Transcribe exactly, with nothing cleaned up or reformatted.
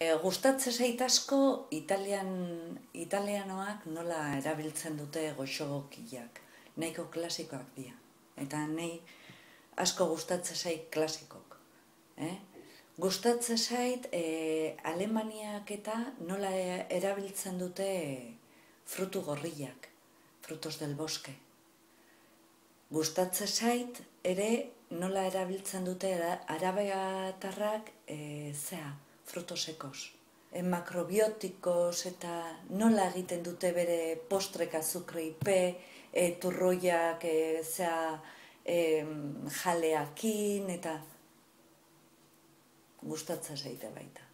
E, gustatzen zait asko italian, italianoak nola erabiltzen dute goxogokiak. Nahiko klasikoak dira. Eta nahi asko gustatzen zait klasikok. Eh? Gustatzen zait e, Alemaniak eta nola erabiltzen dute frutu gorriak, frutos del bosque. Gustatzen zait ere nola erabiltzen dute arabiatarrak e, zea, frutos sekos. E, makrobiotikos eta nola egiten dute bere postrek azukreipe, e, turroiak e, zea e, jaleakin eta gustatzen zaite baita.